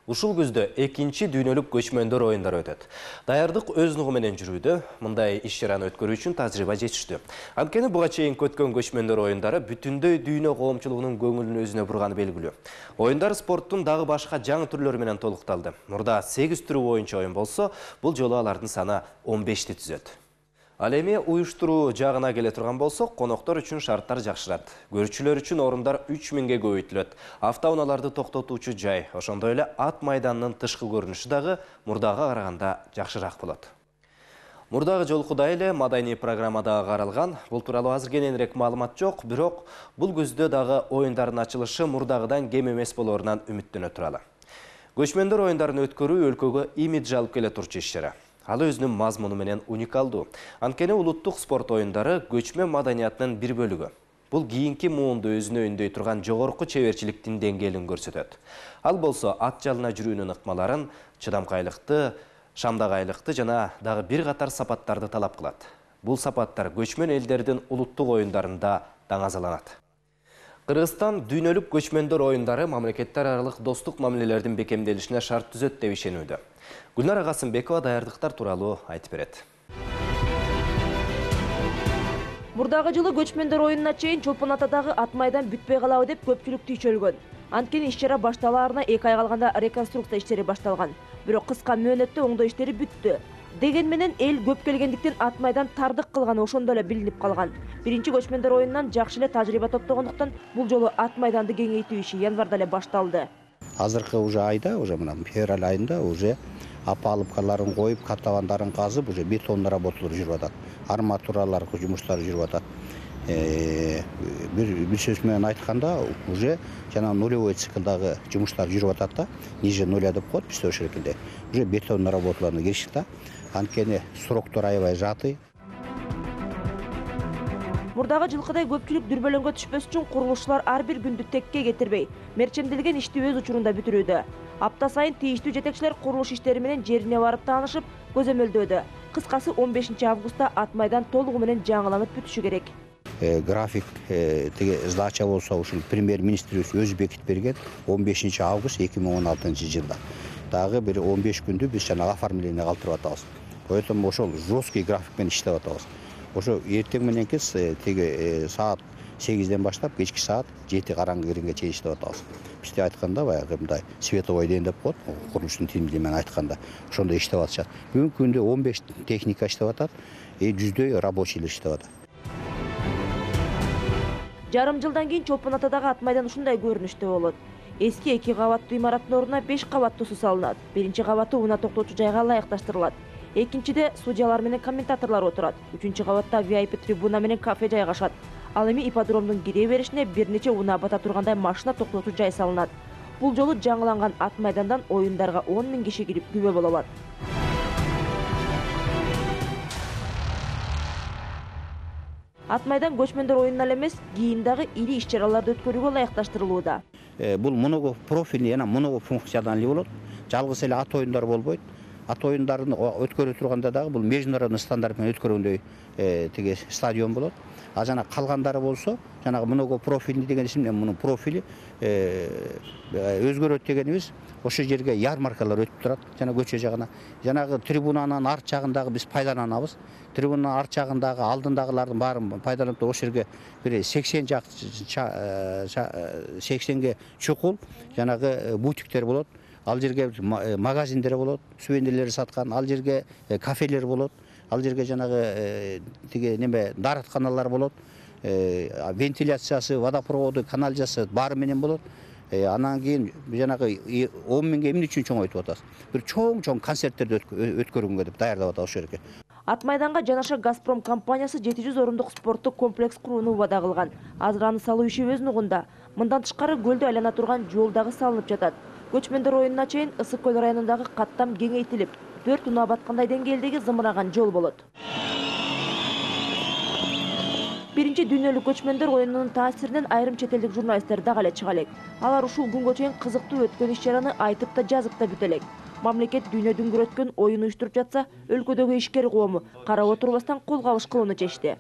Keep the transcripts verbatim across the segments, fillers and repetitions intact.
Ушул күздө экинчи дүйнөлүк көчмөндөр оюндары өтөт. Даярдык өз нугу менен жүрүүдө, мындай иш-чараны өткөрүү үчүн тажрыйба жетиштүү. Анткени буга чейин өткөн көчмөндөр оюндары бүтүндөй дүйнө коомчулугунун көңүлүн өзүнө бурганы белгилүү. Оюндар спорттун дагы башка жаңы түрлөрү менен толукталды. Мурда сегиз түрү боюнча оюн болсо, бул жолу алардын саны он бешти түзөт. Ал эми уюштуруу жагына келе турган болсок, коноктор үчүн шарттар жакшырат. Көрүүчүлөр үчүн орундар үч миңге көбөйтүлөт. Автоунааларды токтотуучу жай, ошондой эле ат майданынын тышкы көрүнүшү дагы мурдага караганда жакшыраак болот. Мурдагы жолкудай эле маданий программада каралган. Бул тууралуу азыр кененирээк маалымат жок, бирок бул күздө дагы оюндардын ачылышы мурдагыдан кем эмес болоорунан үмүттөнө туралы. Көчмөндөр оюндарын өткөрүү өлкөгө имидж алып келе турчу иш-чара. Ал өзүнүн мазмуну менен уникалдуу. Анткени улуттук спорт оюндары көчмөн маданиятынын бир бөлүгү. Бул кийинки муунду өзүнө үндөй турган жогорку чеберчиликтин деңгээлин көрсөтөт. Ал болсо ат жалына жүрүүнүн ыкмаларын, чыдамкайлыкты, шамдагайлыкты жана дагы бир катар сапаттарды талап кылат. Бул сапаттар көчмөн элдердин улуттук оюндарында даңазаланат. Кыргызстан дүйнөлүк көчмөндөр оюндары мамлекеттер аралык достук мамилелердин бекемделишине шарт түзөт деп ишенүүдө. Гүлнара Касымбекова даярдыктар тууралуу айтып берет. Мурдагы жылы көчмөндөр оюнуна чейин Чолпон Атадагы ат майдан бүтпөй калабы деп көпчүлүк түйшөлгөн. Анткени иш-чара башталаарына эки ай калганда реконструкция иштери башталган. Бирок кыска мөөнөттө оңдоо иштери бүттү. Деген менен эл көп келгендиктен ат майдан тардык кылганы ошондо эле билинип калган. Биринчи көчмөндөр оюнунан жакшы эле тажрыйба топтогондуктан бул жолу ат майданды кеңейтүү иши январда эле башталды. Азыркы уже айда, уже мына февраль айында уже опалубкаларын коюп, катабандарын казып, уже бетонный работалар жүрүп атат. Арматуралар жумуштары жүрүп атат. Бир бир сөз менен айтканда, уже жана нулевой циклдагы жумуштар жүрүп атат да, ниже нуля деп коет бизде ошол шекилде. Уже бетонный работаларына киришти да. Анткени сроктор аябай жаты. Мурдагы жылкыдай көпчүлүк дүрбөлөңгө түшпөс үчүн курулушчулар ар бир күндү текке кетирбей, мерчемделген ишти өз учурунда бүтүрүүдө. Апта сайын тийиштүү жетекчилер курулуш иштери менен жерине барып таанышып, көзөмөлдөөдө. Кыскасы он бешинчи августта ат майдан толугу менен жаңыланып бүтүшү керек. График теге сдача болсо ушул премьер-министрибиз өзү бекитип берген он бешинчи август эки миң он алтынчы жылда. Дагы бир он беш күндү биз жана оформление калтырып атабыз. Поэтому ошол жесткий график менен иштеп атабыз. Ошо эртең мененки теге саат сегизден баштап кечки саат жети караңгы киргенге чейин иштеп атабыз. Бизде айтканда баягы мындай световой ден деп коет, курулуштун тилинде менен айтканда, ошондой иштеп атышат. Бүгүнкү күндө он беш техника иштеп атат, жүздөй рабочийлер иштеп атат. Жарым жылдан кийин Чолпон Атадагы ат майдан ушундай көрүнүштө болот. Эски эки кабаттуу имараттын ордуна беш кабаттуусу салынат. Биринчи кабаты унаа токтотуу жайга ылайыкташтырылат. Экинчиде судьялар менен комментаторлор отурат. Үчүнчү кабатта ви ай пи трибуна менен кафе жайгашат. Ал эми ипподромдун кире беришине бир нече унаа бата тургандай машина токтотуу жай салынат. Бул жолу жаңыланган ат майдандан оюндарга он миң киши кирип күбө боло алат. Ат майдан көчмөндөр оюнуна эле эмес, кийин дагы ири иш-чараларды өткөрүүгө ылайыкташтырылууда. Бул много профильный жана много функциональный болот. Жалгыз эле ат оюндары болбойт. Ат оюндарын өткөрө турганда дагы бул международный стандарт менен өткөргөндөй теге стадион болот. А жана калгандары болсо, жанагы много профильный деген ишин менен мунун профили өзгөрөт дегенибиз, ошол жерге ярмаркалар өтүп турат, жана көчө жагына. Жанагы трибунанын арт жагындагы биз пайдаланабыз. Трибунанын арт жагындагы алдындагылардын баарын пайдаланып, ошол жерге бир сексен жак сексенге чукул жанагы бутиктер болот. Ал жерге магазиндер болот, сувенирлер саткан, ал жерге кафелер болот, ал жерге жанагы тиге неме дааратканалар болот, вентиляциясы, водопроводу, канализациясы баары менен болот. Анан кийин жанагы он миңге эмне үчүн чоңойтуп атабыз? Бир чоң-чоң концерттерди өткөргөнгө деп даярдап атабыз ошол жерге. Ат майданга жанаша Газпром компаниясы жети жүз орындук спорттук комплекс курууну убада кылган. Азыр аны салуу иши өз нугунда. Мындан тышкары көлдү айлана турган жол дагы салынып жатат. Көчмөндөр оюнуна чейин Ысык көл районундагы каттам кеңейтилип, төрт унаа баткандай деңгээлдеги зымыраган жол болот. биринчи дүйнөлүк көчмөндөр оюнунун таасиринен айрым чет элдик журналисттер дагы эле чыга элек. Алар ушул күнгө чейин кызыктуу өткөн иш-чараны айтып да жазып да бүтө элек. Мамлекет дүйнө дүңгүр өткөн оюн уюштуруп жатса, өлкөдөгү ишкер коому карап отурбастан кол кабыш кылууну чечти.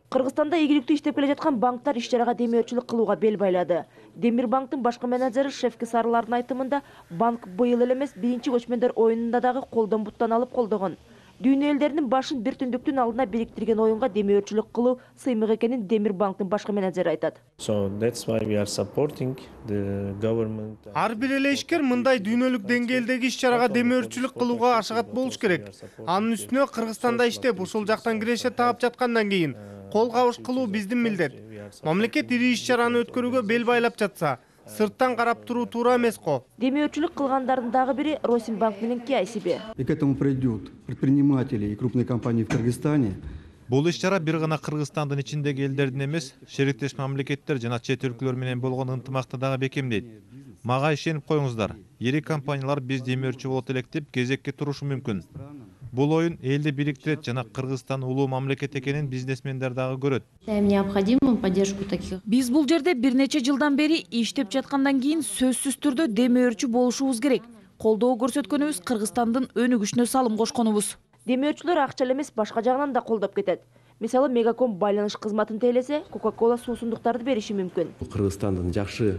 Кыргызстанда ийгиликтүү иштеп келе жаткан банктар иш-чарага демөөрчүлүк кылууга бел байлады. Демир банктын башкы менеджери Шевки Сарылардын айтымында, банк быйыл эле эмес биринчи көчмөндөр оюнунда дагы колдон буттан алып колдогон. Дүйнө элдеринин башын бир түндүктүн алдына бириктирген оюнга демөөрчүлүк кылуу сыймык экенин Демир банктын башкы менеджери айтат. Ар бир эле ишкер мындай дүйнөлүк деңгээлдеги иш-чарага демөөрчүлүк кылууга ашыгат болуш керек. Анын үстүнө Кыргызстанда иштеп, ушул жактан киреше таап жаткандан кийин кол кабыш кылуу биздин милдет. Мамлекет ири иш-чараны өткөрүүгө бел байлап жатса, сырттан карап туруу туура эмес го. Демөөрчүлүк кылгандардын дагы бири Росинбанк менен Киайсиби. И к этому придут предприниматели и крупные компании в Кыргызстане. Бул иш-чара бир гана Кыргызстандын ичиндеги элдердин эмес, шериктеш мамлекеттер жана чет өлкөлөр менен болгон ынтымакты дагы бекемдейт. Мага ишенип коюңуздар. Ири компаниялар биз демөөрчү болот элек деп кезекке турушу мүмкүн. Бул оюн элди бириктирет жана Кыргызстан улуу мамлекет экенин бизнесмендер дагы көрөт. Биз бул жерде бир нече жылдан бери иштеп жаткандан кийин сөзсүз түрдө демөөрчү болушубуз керек. Колдоо көрсөткөнүбүз Кыргызстандын өнүгүшүнө салым кошконубуз. Демөөрчүлөр акча эле эмес башка жагынан да колдоп кетет. Мисалы, Мегаком байланыш кызматын тейлесе, Кока-Коla суусундуктарды бериши мүмкүн. Кыргызстандын жакшы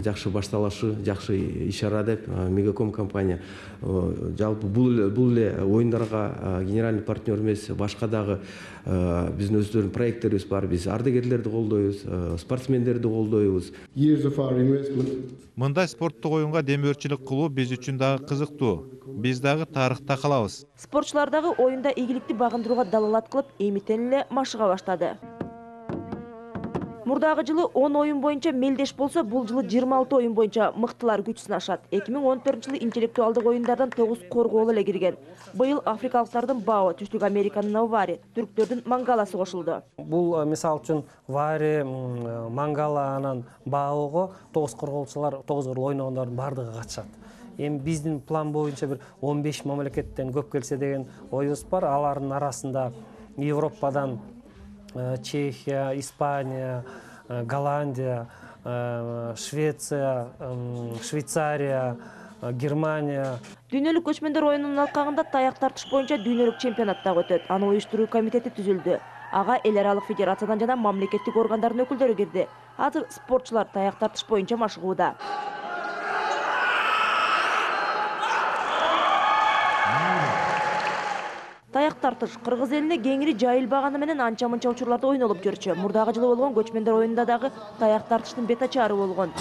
жакшы башталышы, жакшы иш-чара деп Мегаком компания жалпы бул бул эле оюндарга генеральный партнер эмес, башка дагы биздин өздөрүнүн проекттерибиз бар. Биз ардагерлерди колдойбуз, спортсмендерди колдойбуз. Мындай спорттук оюнга демөөрчүлүк кылуу биз үчүн дагы кызыктуу. Биз дагы тарыхта калабыз. Спортчулар дагы оюнда ийгиликти багындырууга далалат кылып, эмитен эле машыга баштады. Мурдагы жылы он оюн боюнча мелдеш болсо, бул жылы жыйырма алты оюн боюнча мыктылар күч сынашат. эки миң он төртүнчү жылы интеллектуалдык оюндардан тогуз коргоол эле кирген. Быйыл африкалыктардын Бао, Түштүк Американын Авари, түрктөрдүн Мангаласы кошулду. Бул мисал үчүн Вари, Мангала анан Баого тогуз корголчулар, тогуз ойногондордун бардыгы катышат. Эми биздин план боюнча бир он беш мамлекеттен көп келсе деген оюбуз бар. Алардын арасында Европадан Чехия, Испания, Голландия, Швеция, Швейцария, Германия. Дүйнөлүк көчмөндөр оюнунун алкагында таяк тартыш боюнча дүйнөлүк чемпионат дагы өтөт. Аны уюштуруу комитети түзүлдү. Ага эл аралык федерациядан жана мамлекеттик органдардын өкүлдөрү кирди. Азыр спортчулар таяк тартыш боюнча машыгууда. Таяк тартыш Кыргыз элине кеңири жайылбаганы менен анча-мынча учурларда ойнолуп жүрчү. Мурдагы жылы болгон көчмөндөр оюнунда дагы таяк тартыштын бет ачары болгон.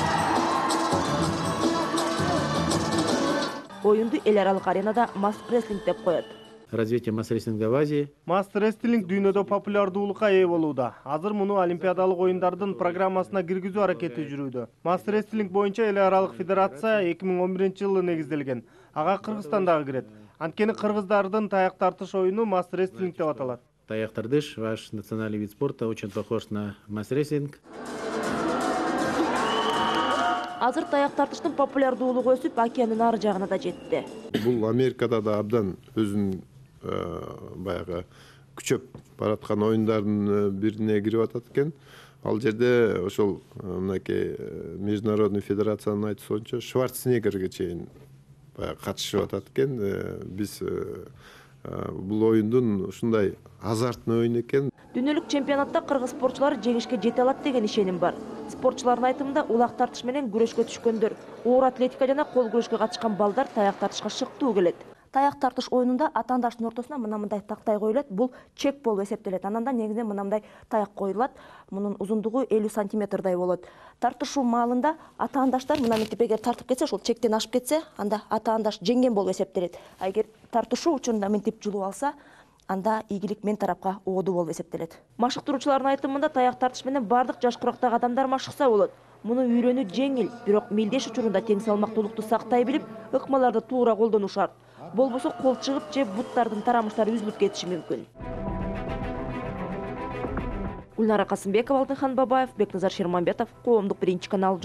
Оюнду эл аралык аренада масс-рестлинг деп коет. Развитие масс-рестлинга в Азии. Масс-рестлинг дүйнөдө популярдуулукка ээ болууда. Азыр муну Олимпиадалык оюндардын программасына киргизүү аракети жүрүүдө. Масс-рестлинг боюнча эл аралык федерация эки миң он биринчи жылы негизделген. Ага Кыргызстан дагы кирет. Анткени кыргыздардын таяк тартыш оюну масс-рестлинг деп аталат. Таяк тартыш, ваш национальный вид спорта, очень похож на масс-рестлинг. Азыр таяк тартыштын популярдуулугу өсүп, океандын ары жагына да жетти. Бул Америкада да абдан өзүнүн баягы күчөп бараткан оюндардын бирине кирип атат экен. Ал жерде ошол мынакей международный федерациянын айтуусунча Шварценеггерге чейин катышып атат экен. Биз бул оюндун ушундай азартный оюн экен. Дүйнөлүк чемпионатта кыргыз спортчулары жеңишке жете алат деген ишеним бар. Спортчулардын айтымында улак тартыш менен күрөшкө түшкөндөр, оор атлетика жана кол күрөшкө катышкан балдар таяк тартышка шыктуу келет. Таяк тартыш оюнунда атаандаштын ортосуна мына-мындай тактай коюлат. Бул чек болуп эсептелет. Анан да негизинен мына-мындай таяк коюлат. Мунун узундугу элүү сантиметрдай болот. Тартышуу маалында атаандаштар мына мынтип эгер тартып кетсе, ошол чектен ашып кетсе, анда атаандаш жеңген болуп эсептелет. А эгер тартышуу учурунда мынтип жулуп алса, анда ийгилик мен тарапка оодуу болуп эсептелет. Машыктыруучулардын айтымында таяк тартыш менен бардык жаш курактагы адамдар машыкса болот. Муну үйрөнүү жеңил, бирок мелдеш учурунда тең салмактуулукту сактай билип, ыкмаларды туура колдонуу шарт. Болбосо кол чыгып же буттардын тарамыштары үзүлүп кетиши мүмкүн. Гүлнара Касымбекова, Алтынхан Бабаев, Бекназар Шерманбетов, Коомдук биринчи канал.